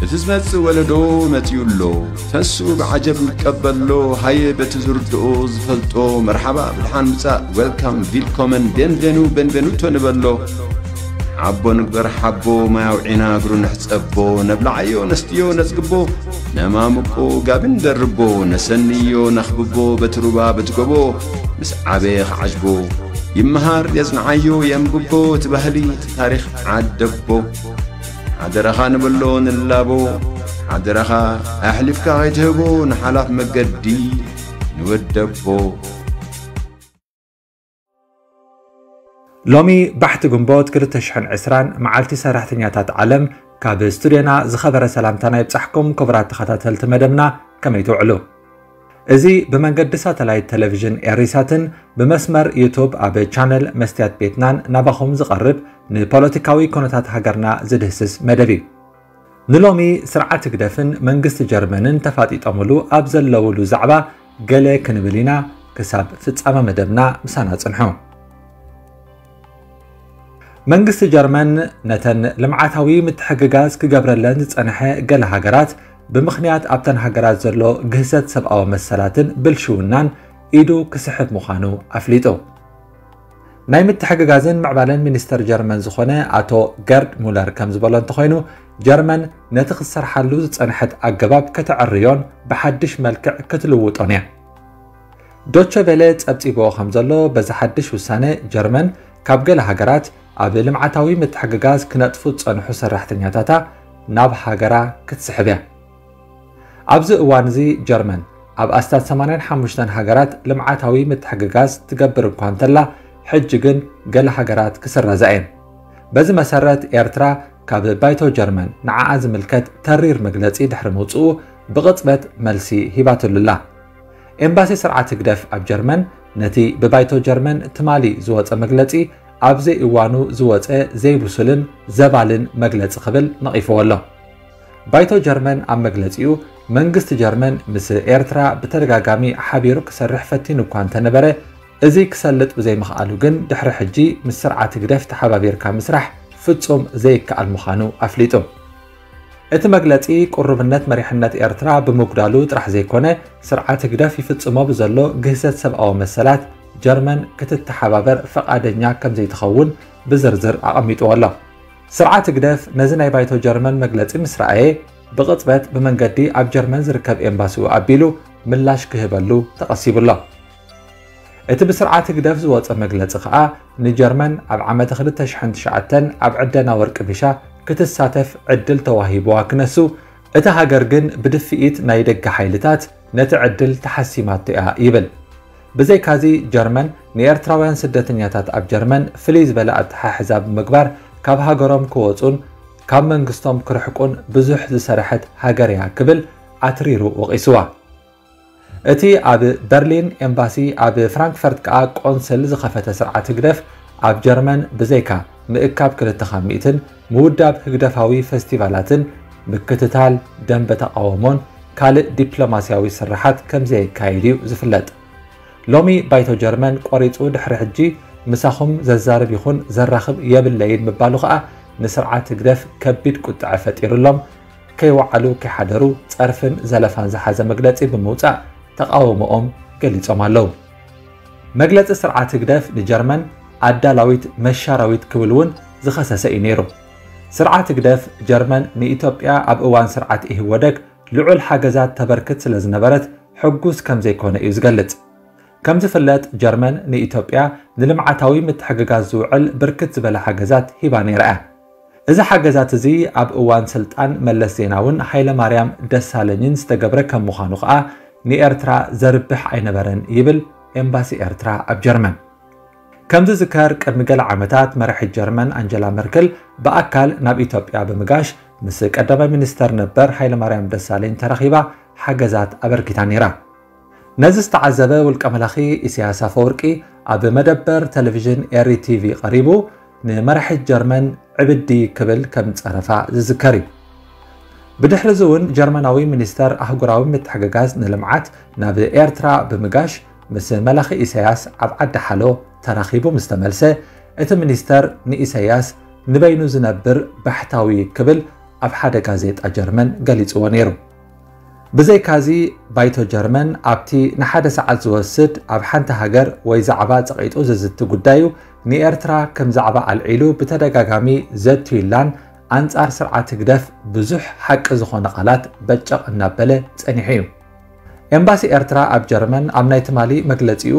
እቲ ዝመጽእ ወለዶ መጺኡ ኣሎ። ተሱ ብዓጀብ ይቀበሎ። ሃየ በቲ ዝርድኦ ዝፈልጦ መርሓባ ብድሓን ምጻእ፣ ዌልካም፣ ቪልኮመን፣ ቤንቬኑ፣ ቤንቬኑቶ ንበሎ። ሓቦ ንግበር ሓቦ፣ ማይ ኣውዒና እግሩ ንሕጸቦ። ነብልዓዮ ነስትዮ ነጽግቦ፣ ነማምቆ ጋቢ ንደርቦ። ነሰንዮ ነኽብቦ በቲ ሩባ በቲ ጎቦ፣ ምስ ዓበየ ክዓጅቦ። ይመሃር የጽንዓዮ የንብቦ፣ እቲ ባህሊ እቲ ታሪኽ ዓደቦ። ሓደራኻ ንብሎ ንላቦ፣ ሓደራኻ ኣሕሊፍካ ከይትህቦ ንሓላፍ መገዲ ንወደቦ። ሎሚ ባሕቲ ግንቦት ክልተ ሽሕን ዕስራን መዓልቲ ሰራሕተኛታት ዓለም፣ ካብ ስቱድዮና ዝኸበረ ሰላምታና ይብጻሕኩም ክቡራት ተኸታተልቲ መደብና፣ ከመይ ትውዕሉ? እዚ ብመንገዲ ሳተላይት ቴሌቪዥን ኤሪሳትን ብመስመር ዩቱብ ኣብ ቻነል መስትያት ቤትናን ናባኹም ዝቐርብ ንፖለቲካዊ ኩነታት ሃገርና ዝድህስስ መደብ እዩ። ንሎሚ ስርዓት ህግደፍን መንግስቲ ጀርመንን ተፋጢጦምሉ ኣብ ዘለውሉ ዛዕባ ገለ ክንብል ኢና። ክሳብ ፍጻመ መደብና ምሳና ጽንሑ። መንግስቲ ጀርመን ነተን ልምዓታዊ ምትሕግጋዝ ክገብረለን ዝጸንሐ ገለ ሃገራት ብምኽንያት ኣብተን ሃገራት ዘሎ ግህሰት ሰብኣዊ መሰላትን ብልሽውናን ኢዱ ክስሕብ ምዃኑ ኣፍሊጡ። ናይ ምትሕግጋዝን ምዕባለን ሚኒስተር ጀርመን ዝኾነ ኣቶ ገርድ ሙለር ከም ዝበሎ እንተኾይኑ፣ ጀርመን ነቲ ክትሰርሓሉ ዝጸንሐት ኣገባብ ከተዕርዮን ብሓድሽ መልክዕ ክትልውጦን እያ። ዶቸ ቬለ ጸብጺብዎ ከም ዘሎ፣ በዚ ሓድሽ ውሳነ ጀርመን ካብ ገለ ሃገራት ኣብ ልምዓታዊ ምትሕግጋዝ ክነጥፉ ዝጸንሑ ሰራሕተኛታታ ናብ ሃገራ ክትስሕብ እያ። ኣብዚ እዋን እዚ ጀርመን ኣብ ኣስታት ሰማንያን ሓሙሽተን ሃገራት ልምዓታዊ ምትሕግጋዝ ትገብር እኳ እንተላ፣ ሕጂ ግን ገለ ሃገራት ክስረዛ እየን። በዚ መሰረት ኤርትራ ካብ ባይቶ ጀርመን ንዓኣ ዝምልከት ተሪር መግለጺ ድሕሪ ምውጽኡ ብቕጽበት መልሲ ሂባትሉ ኣላ። ኤምባሲ ስርዓት ህግደፍ ኣብ ጀርመን ነቲ ብባይቶ ጀርመን ትማሊ ዝወጸ መግለጺ ኣብ ዘይእዋኑ ዝወጸ ዘይብሱልን ዘባልን መግለጺ ክብል ነቒፍዎ ኣሎ። ባይቶ ጀርመን ኣብ መግለጺኡ፣ መንግስቲ ጀርመን ምስ ኤርትራ ብተደጋጋሚ ሓቢሩ ክሰርሕ ፈቲኑ እኳ እንተነበረ፣ እዚ ክሰልጥ ብዘይምኽኣሉ ግን ድሕሪ ሕጂ ምስ ስርዓት ህግደፍ ተሓባቢርካ ምስራሕ ፍጹም ዘይከኣል ምዃኑ ኣፍሊጡ። እቲ መግለጺ ቅሩብነት መሪሕነት ኤርትራ ብምጉዳሉ ጥራሕ ዘይኮነ፣ ስርዓት ህግደፍ ይፍጽሞ ብዘሎ ግህሰት ሰብኣዊ መሰላት ጀርመን ክትተሓባበር ፈቓደኛ ከም ዘይትኸውን ብዝርዝር ኣቐሚጥዎ ኣሎ። ስርዓት ህግደፍ ነዚ ናይ ባይቶ ጀርመን መግለጺ ምስ ረኣየ፣ ብቕጽበት ብመንገዲ ኣብ ጀርመን ዝርከብ ኤምባሲኡ ኣቢሉ ምላሽ ክህበሉ ተቐሲቡ ኣሎ። እቲ ብስርዓት ህግደፍ ዝወጸ መግለጺ ከኣ፣ ንጀርመን ኣብ ዓመተ ክልተ ሽሕን ትሽዓተን ኣብ ዕደና ወርቂ ቢሻ ክትሳተፍ ዕድል ተዋሂብዋ ክነሱ፣ እታ ሃገር ግን ብድፍኢት ናይ ደገ ሓይልታት ነቲ ዕድል ተሓሲማቶ እያ ይብል። ብዘይካዚ፣ ጀርመን ንኤርትራውያን ስደተኛታት ኣብ ጀርመን ፍልይ ዝበለ ኣተሓሕዛ ብምግባር፣ ካብ ሃገሮም ክወጹን ካብ መንግስቶም ክርሕቁን ብዙሕ ዝሰርሐት ሃገር እያ ክብል ኣትሪሩ ወቒስዋ። እቲ ኣብ በርሊን ኤምባሲ፣ ኣብ ፍራንክፈርት ከኣ ቆንስል ዝኸፈተ ስርዓት ህግደፍ፣ ኣብ ጀርመን ብዘይካ ምእካብ ክልተ ካብ ሚእትን ምውዳብ ህግደፋዊ ፈስቲቫላትን ምክትታል ደንበ ተቓውሞን ካልእ ዲፕሎማስያዊ ስርሓት ከም ዘየካይድ እዩ ዝፍለጥ። ሎሚ ባይቶ ጀርመን ቆሪጹ ድሕሪ ሕጂ ምሳኹም ዘዛርብ ይኹን ዘራኽብ የብለይን ምባሉ ከኣ ንስርዓት ህግደፍ ከቢድ ቁጥዐ ፈጢሩሎም፣ ከይወዓሉ ከይሓደሩ ጸርፍን ዘለፋን ዝሓዘ መግለጺ ብምውጻእ ተቓውሞኦም ገሊጾም ኣለዉ። መግለጺ ስርዓት ህግደፍ ንጀርመን ኣዳላዊት መሻራዊት ክብል እውን ዝኸሰሰ እዩ ነይሩ። ስርዓት ህግደፍ ጀርመን ንኢትዮጵያ ኣብ እዋን ስርዓት ኢህወደግ ልዑል ሓገዛት ተበርክት ስለ ዝነበረት ሕጉስ ከም ዘይኮነ እዩ ዝገልጽ። ከም ዝፍለጥ ጀርመን ንኢትዮጵያ ንልምዓታዊ ምትሕግጋዝ ዝውዕል ብርክት ዝበለ ሓገዛት ሂባ ነይራ እያ። እዚ ሓገዛት እዚ ኣብ እዋን ስልጣን መለስ ዜናውን ሃይለማርያም ደሳለኝን ዝተገብረ ከም ምዃኑ ከኣ ንኤርትራ ዘርብሕ ኣይነበረን ይብል ኤምባሲ ኤርትራ ኣብ ጀርመን። ከም ዝዝከር ቅድሚ ገለ ዓመታት መራሒት ጀርመን ኣንጀላ መርክል ብኣካል ናብ ኢትዮጵያ ብምጋሽ ምስ ቀዳማይ ሚኒስተር ነበር ሃይለማርያም ደሳለኝ ተራኺባ ሓገዛት ኣበርኪታ ነይራ። ነዚ ዝተዓዘበ ውልቀ መላኺ ኢሳያስ ኣፈወርቂ ኣብ መደበር ቴሌቪዥን ኤሪ ቲቪ ቀሪቡ ንመራሒት ጀርመን ዕብዲ ክብል ከም ዝጸረፋ ዝዝከር እዩ። ብድሕሪ እዚ እውን ጀርመናዊ ሚኒስተር ኣህጉራዊ ምትሕግጋዝ ንልምዓት ናብ ኤርትራ ብምጋሽ ምስ መላኺ ኢሳያስ ኣብ ዓዲ ሓሎ ተራኺቡ ምስ ተመልሰ፣ እቲ ሚኒስተር ንኢሳያስ ንበይኑ ዝነብር ባሕታዊ ክብል ኣብ ሓደ ጋዜጣ ጀርመን ገሊጽዎ ነይሩ። ብዘይካዚ፣ ባይቶ ጀርመን ኣብቲ ንሓደ ሰዓት ዝወስድ ኣብ ሓንቲ ሃገር ወይ ዛዕባ ጸቒጡ ዝዝቲ ጉዳዩ ንኤርትራ ከም ዛዕባ ኣልዒሉ ብተደጋጋሚ ዘትዩላን ኣንጻር ስርዓት ህግደፍ ብዙሕ ሓቂ ዝኾነ ቃላት በጨቕ እናበለ ጸኒሑ እዩ። ኤምባሲ ኤርትራ ኣብ ጀርመን ኣብ ናይ ትማሊ መግለጺኡ፣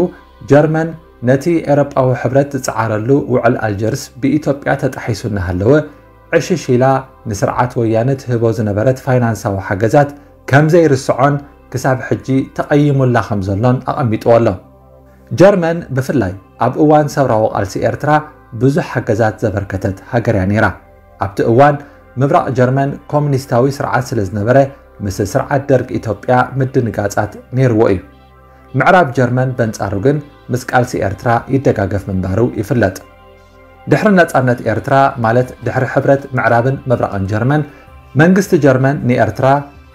ጀርመን ነቲ ኤውሮጳዊ ሕብረት ዝጸዓረሉ ውዕል ኣልጀርስ ብኢትዮጵያ ተጣሒሱ እናሃለወ፣ ዕሽሽ ኢላ ንስርዓት ወያነ ትህቦ ዝነበረት ፋይናንሳዊ ሓገዛት ከም ዘይርስዖን ክሳብ ሕጂ ተቐይሙላ ከም ዘሎን ኣቐሚጥዎ ኣሎ። ጀርመን ብፍላይ ኣብ እዋን ሰብራዊ ቃልሲ ኤርትራ ብዙሕ ሓገዛት ዘበርከተት ሃገር እያ ነይራ። ኣብቲ እዋን ምብራቕ ጀርመን ኮሙኒስታዊ ስርዓት ስለ ዝነበረ፣ ምስ ስርዓት ደርግ ኢትዮጵያ ምድንጋጻት ነይርዎ እዩ። ምዕራብ ጀርመን በንጻሩ ግን ምስ ቃልሲ ኤርትራ ይደጋገፍ ምንባሩ ይፍለጥ። ድሕሪ ነጻነት ኤርትራ፣ ማለት ድሕሪ ሕብረት ምዕራብን ምብራቕን ጀርመን፣ መንግስቲ ጀርመን ንኤርትራ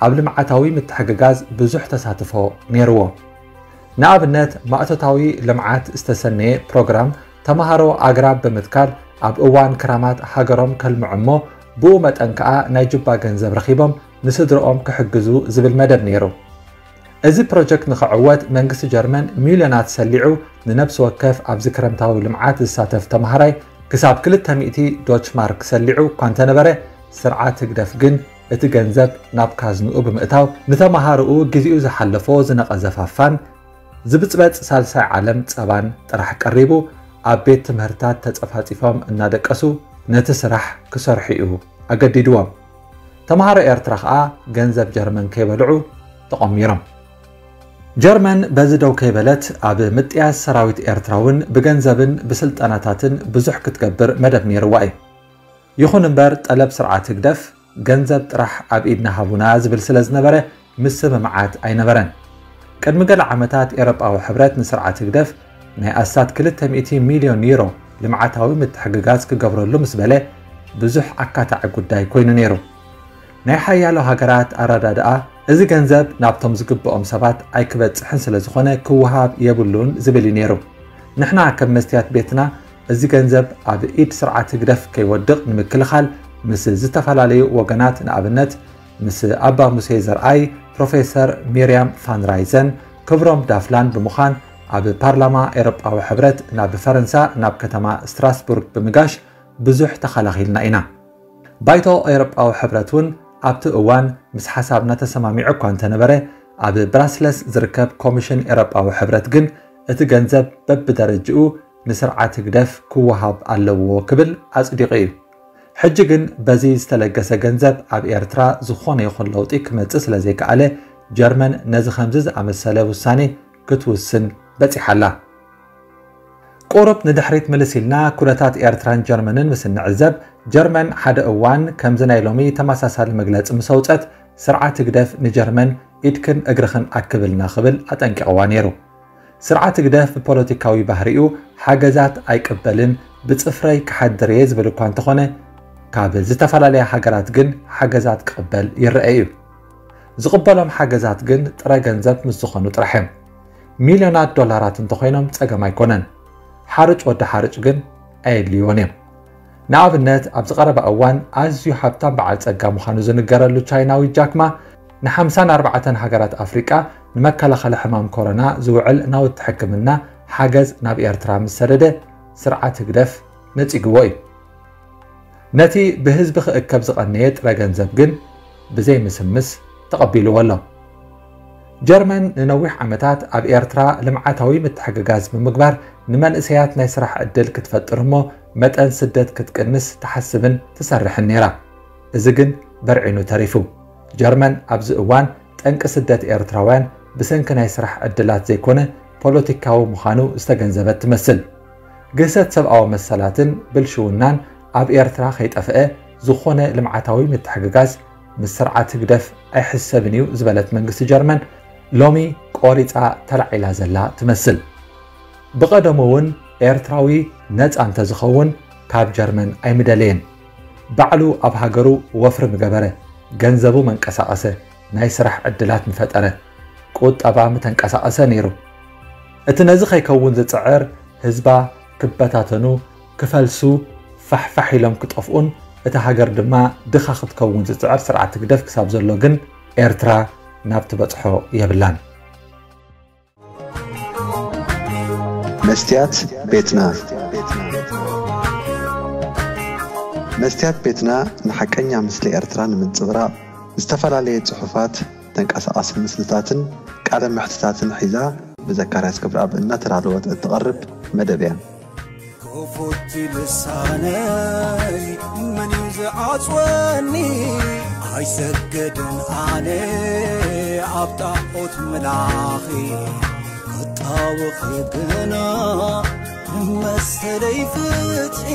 ኣብ ልምዓታዊ ምትሕግጋዝ ብዙሕ ተሳትፎ ነይርዎ። ንኣብነት፣ ማእቶታዊ ልምዓት ዝተሰነየ ፕሮግራም ተምሃሮ ኣግራብ ብምትካል ኣብ እዋን ክራማት ሃገሮም ከልምዑ እሞ፣ ብኡ መጠን ከኣ ናይ ጁባ ገንዘብ ረኺቦም ንስድርኦም ክሕግዙ ዝብል መደብ ነይሩ። እዚ ፕሮጀክት ንኽዕወት መንግስቲ ጀርመን ሚልዮናት ሰሊዑ፣ ንነብሲ ወከፍ ኣብዚ ክረምታዊ ልምዓት ዝሳተፍ ተምሃራይ ክሳብ ክልተ ሚእቲ ዶች ማርክ ሰሊዑ እኳ እንተነበረ፣ ስርዓት ህግደፍ ግን እቲ ገንዘብ ናብ ካዝንኡ ብምእታው፣ ንተምሃሮኡ ግዜኡ ዝሓለፎ ዝነቐዘ ፋፋን ዝብጽበጽ ሳልሳይ ዓለም ጸባን ጥራሕ ቀሪቡ፣ ኣብ ቤት ትምህርታት ተጸፋጺፎም እናደቀሱ ነቲ ስራሕ ክሰርሑ እዩ ኣገዲድዎም። ተምሃሮ ኤርትራ ከኣ ገንዘብ ጀርመን ከይበልዑ ተቖሚሮም። ጀርመን በዚ ደው ከይበለት፣ ኣብ ምጥያስ ሰራዊት ኤርትራ እውን ብገንዘብን ብስልጠናታትን ብዙሕ ክትገብር መደብ ነይርዋ እዩ። ይኹን እምበር፣ ጠለብ ስርዓት ህግደፍ፣ "ገንዘብ ጥራሕ ኣብ ኢድና ሃቡና" ዝብል ስለ ዝነበረ፣ ምስምምዓት ኣይነበረን። ቅድሚ ገለ ዓመታት፣ ኤውሮጳዊ ሕብረት ንስርዓት ህግደፍ ናይ ኣስታት ክልተ ሚእቲ ሚልዮን ዩሮ ልምዓታዊ ምትሕግጋዝ ክገብረሉ ምስ በለ፣ ብዙሕ ኣካታዒ ጉዳይ ኮይኑ ነይሩ። ናይ ሓያሎ ሃገራት ኣረዳድኣ፣ እዚ ገንዘብ ናብቶም ዝግብኦም ሰባት ኣይክበጽሕን ስለ ዝኾነ፣ ክወሃብ የብሉን ዝብል እዩ ነይሩ። ንሕና ከም መስትያት ቤትና፣ እዚ ገንዘብ ኣብ ኢድ ስርዓት ህግደፍ ከይወድቕ ንምክልኻል፣ ምስ ዝተፈላለዩ ወገናት፣ ንኣብነት፣ ምስ ኣባ ሙሴ ዘርኣይ፣ ፕሮፌሰር ሚርያም ፋን ራይዘን፣ ክብሮም ዳፍላን ብምዃን፣ ኣብ ፓርላማ ኤውሮጳዊ ሕብረት ናብ ፈረንሳ፣ ናብ ከተማ ስትራስቡርግ ብምጋሽ ብዙሕ ተኸላኺልና ኢና። ባይቶ ኤውሮጳዊ ሕብረት እውን ኣብቲ እዋን ምስ ሓሳብና ተሰማሚዑ እኳ እንተነበረ፣ ኣብ ብራስለስ ዝርከብ ኮሚሽን ኤውሮጳዊ ሕብረት ግን፣ እቲ ገንዘብ በብደረጅኡ ንስርዓት ህግደፍ ክወሃብ ኣለዎ ክብል ኣጽዲቑ እዩ። ሕጂ ግን በዚ ዝተለገሰ ገንዘብ ኣብ ኤርትራ ዝኾነ ይኹን ለውጢ ክመጽእ ስለ ዘይከኣለ፣ ጀርመን ነዚ ከምዚ ዝኣመሰለ ውሳኔ ክትውስን በጺሓ ኣላ። ቁሩብ ንድሕሪት ምልስ ኢልና፣ ኩነታት ኤርትራን ጀርመንን ምስ እንዕዘብ፣ ጀርመን ሓደ እዋን ከምዚ ናይ ሎሚ ተመሳሳሊ መግለጺ ምስ ኣውጸት፣ ስርዓት ህግደፍ ንጀርመን "ኢድክን እግርኽን ኣክብልና" ክብል ኣጠንቂቕዋ ነይሩ። ስርዓት ህግደፍ ብፖለቲካዊ ባህሪኡ ሓገዛት ኣይቅበልን፣ "ብጽፍረይ ክሓድር እየ" ዝብል እኳ እንተኾነ፣ ካብ ዝተፈላለያ ሃገራት ግን ሓገዛት ክቕበል ይረአ እዩ። ዝቕበሎም ሓገዛት ግን ጥረ ገንዘብ ምስ ዝኾኑ ጥራሕ እዮም። ሚልዮናት ዶላራት እንተኾይኖም ጸገም ኣይኮነን። ሓርጭ ወዲ ሓርጭ ግን ኣየድልይዎን እዮም። ንኣብነት፣ ኣብዚ ቀረባ እዋን ኣዝዩ ሃብታም በዓል ጸጋ ምዃኑ ዝንገረሉ ቻይናዊ ጃክ ማ፣ ንሓምሳን ኣርባዕተን ሃገራት ኣፍሪቃ ንመከላኸሊ ሕማም ኮሮና ዝውዕል ናውቲ ሕክምና ሓገዝ ናብ ኤርትራ ምስ ሰደደ፣ ስርዓት ህግደፍ ነጺግዎ እዩ። ነቲ ብህዝቢ ክእከብ ዝቐነየ ጥረ ገንዘብ ግን ብዘይምስምስ ተቐቢልዎ ኣሎ። ጀርመን ንነዊሕ ዓመታት ኣብ ኤርትራ ልምዓታዊ ምትሕግጋዝ ብምግባር፣ ንመንእሰያት ናይ ስራሕ ዕድል ክትፈጥር እሞ፣ መጠን ስደት ክትቅንስ ትሓስብን ትሰርሕን ነይራ። እዚ ግን በርዒኑ ተሪፉ። ጀርመን ኣብዚ እዋን ጠንቂ ስደት ኤርትራውያን ብሰንኪ ናይ ስራሕ ዕድላት ዘይኮነ፣ ፖለቲካዊ ምዃኑ ዝተገንዘበት ትመስል። ግህሰት ሰብኣዊ መሰላትን ብልሽውናን ኣብ ኤርትራ ከይጠፍአ፣ ዝኾነ ልምዓታዊ ምትሕግጋዝ ምስ ስርዓት ህግደፍ ኣይሕሰብን እዩ ዝበለት መንግስቲ ጀርመን፣ ሎሚ ቆሪጻ ተላዒላ ዘላ ትመስል። ብቐደሙ እውን ኤርትራዊ ነጻ እንተዝኸውን ካብ ጀርመን ኣይምደለየን። ባዕሉ ኣብ ሃገሩ ወፍሪ ምገበረ፣ ገንዘቡ መንቀሳቐሰ፣ ናይ ስራሕ ዕድላት ምፈጠረ፣ ቁጠባ ምተንቀሳቐሰ ነይሩ። እቲ ነዚ ከይከውን ዝጽዕር ህዝባ ክበታተኑ፣ ክፈልሱ፣ ፋሕፋሕ ኢሎም ክጠፍኡን እታ ሃገር ድማ ድኻ ክትከውን ዝጽዕር ስርዓት ህግደፍ ክሳብ ዘሎ ግን ኤርትራ ናብ ትበጽሖ የብላን። መስትያት ቤትና። መስትያት ቤትና ንሓቀኛ ምስሊ ኤርትራ ንምንጽብራቕ ዝተፈላለየ ጽሑፋት፣ ተንቀሳቓሲ ምስልታትን ቃለ መሕትታትን ሒዛ ብዘካርያስ ክብረኣብ እናተዳለወት እትቐርብ መደብ እያ። ክፉት ልሳነይ መን እዩ ዝዓጽወኒ? ኣይሰገድን ኣነ ኣብ ጣዖት ምላኺ ክጣወኺ ግና መሰለይ ፍትሒ